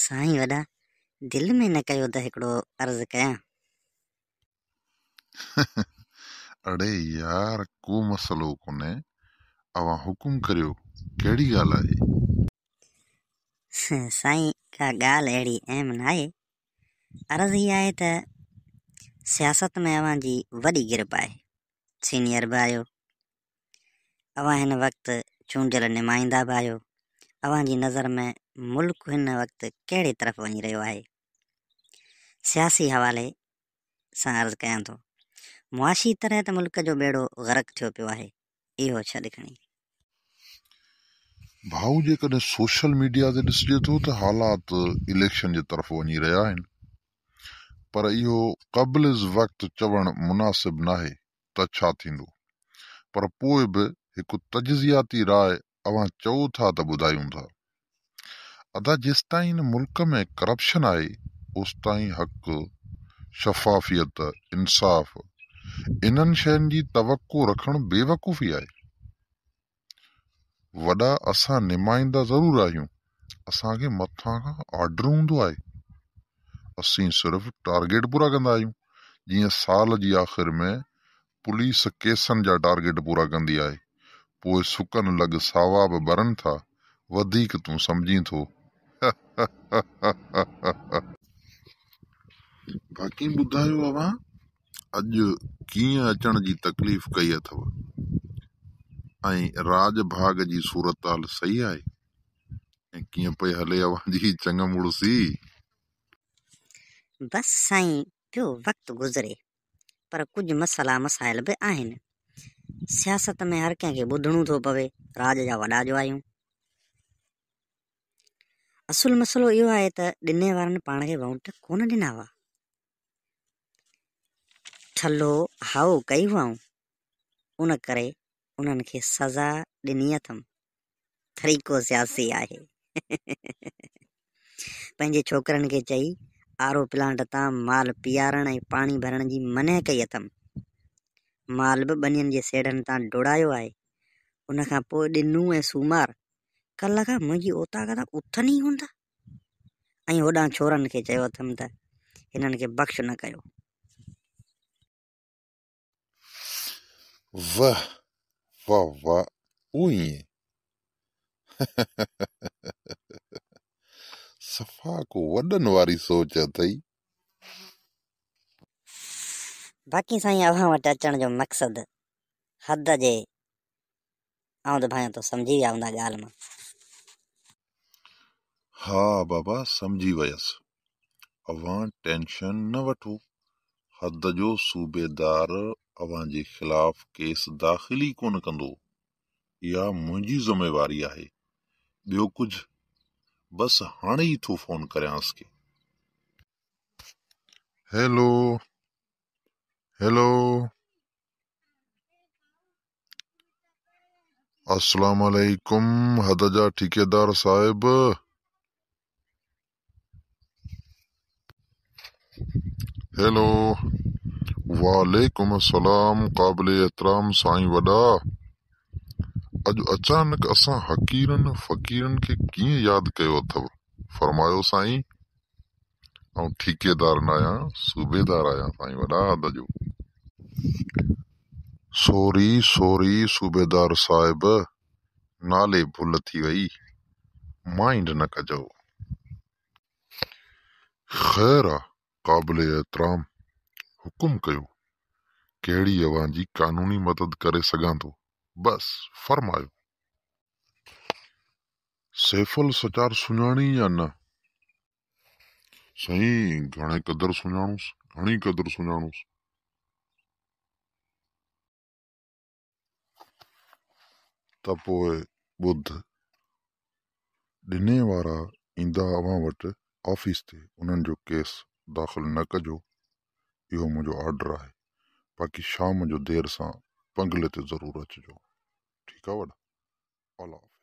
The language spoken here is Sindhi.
سائين وڏا دل ۾ نه ڪيو ته هڪڙو عرض ڪيان. اڙي يار ڪو مسئلو ڪونهي اوهان حڪم ڪريو ڪهڙي ڳالهه آهي. سائين ڪا ڳالهه اهڙي اهم ناهي. عرض هي آهي ته سياست ۾ اوهان جي وڏي گرپ آهي. سينيئر به آهيو. اوهان هن وقت چونڊيل نمائندا به آهيو. اوهان جي نظر ۾ ملڪ هن وقت ڪهڙي طرف وڃي رهيو آهي؟ سياسي حوالي سان عرض ڪيان ٿو. معاشي طرح ته ملڪ جو ٻيڙو غرق ٿيو پيو آهي. اهو ڇڏ کڻي. ڀائو جيڪڏهن سوشل ميڊيا تي ڏسجي ٿو ته حالات اليڪشن جي طرف وڃي رهيا آهن پر اهو قبل از وقت چوڻ مناسب ناهي ته ڇا ٿيندو پر پوء به هڪ تجزياتي راء اوهان چئو ٿا ته ٻڌايون ٿا. ادا جيستائين هن ملڪ ۾ ڪرپشن آهي اوستائين حق، شفافيت، انصاف انهن شين جي توقع رکڻ بيوقوفي آهي. وڏا اسان نمائندا ضرور آهيون اسان کي مٿان کان آرڊر هوندو آهي اسين صرف ٽارگيٽ پورا ڪندا آهيون جيئن سال جي آخر ۾ پوليس ڪيسن جا ٽارگيٽ پورا ڪندي آهي پوء سڪن لڳ ساوا به ٻرن ٿا وڌيڪ تون سمجهين ٿو. باقي ٻڌايو اوهان اڄ ڪيئن اچڻ جي تڪليف ڪئي اٿو ۽ راڄ ڀاڳ جي صورتحال صحيح آهي ۽ ڪيئن پئي هلي اوهان جي چڱ مڙسي. بس سائين پيو وقت گذري پر ڪجهه مسئلا مسائل به آهن. سياست ۾ هر ڪنهن کي ٻڌڻو ٿو پوي، راڄ جا وڏا جو آهيون. اصل مسئلو اهو آهي ته ڏني وارن پاڻ کي وونٽ ڪونه ڏنا هئا. ٺلهو هائو ڪئي هئائون، ان ڪري انهن کي سزا ڏني اٿم. طريقو سياسي آهي. پنهنجي ڇوڪرن کي چئي آر او پلانٽ تان مال پيارڻ ۽ پاڻي ڀرڻ جي منع ڪئي اٿم. مال به ٻنين جي سيڙهن تان ڊوڙايو آهي. ان کان پوء ڏنو ۽ سومار ڪلهه کان منهنجي اوطاق تان اٿن ئي ڪونه ٿا ۽ هوڏانهن ڇورن کي چيو اٿم ته هنن کي بخش نه ڪيو. وه واه واه او ائين صفا ڪو وڏن واري سوچ اٿئي. باقي سائين اوهان وٽ اچڻ جو مقصد حد جي آئون ته ڀانيان ٿو سمجهي ويا هوندا ڳالهه مان. ها بابا سمجهي ويس. اوهان ٽينشن نه وٺو حد جو صوبيدار اوهان جي خلاف ڪيس داخل ئي ڪونه ڪندو. اها منهنجي ذميواري آهي. ٻيو ڪجهه؟ بس هاڻي ئي ٿو فون ڪريانس کي. Hello hello. السلام عليڪم حد جا ٺيڪيدار صاحب. هيلو وعليڪم السلام قابل احترام سائين وڏا اڄ اچانڪ اسان حقيرن فقيرن کي ڪيئن ياد ڪيو اٿو فرمايو سائين آئون ٺيڪيدار ناهيان صوبيدار آهيان سائين وڏا حد جو. سوري سوري صوبيدار صاحب نالي ڀل ٿي وئي مائينڊ نه ڪجو. خير آ قابل احترام حڪم ڪيو ڪهڙي اوهان جي قانوني مدد ڪري سگهان ٿو بس فرمايو. سيفل سچار سڃاڻين يا نه؟ سائين گهڻي قدر سڃاڻوس، گهڻي قدر سڃاڻوس. ته پوء ٻڌ، ڏني وارا ايندا اوهان وٽ آفيس تي انهن جو ڪيس داخل نه ڪجو، اهو منهنجو آرڊر آهي، باقي شام جو دير سان بنگلي تي ضرور اچجو، ٺيڪ آ وڏا؟ الله حافظ.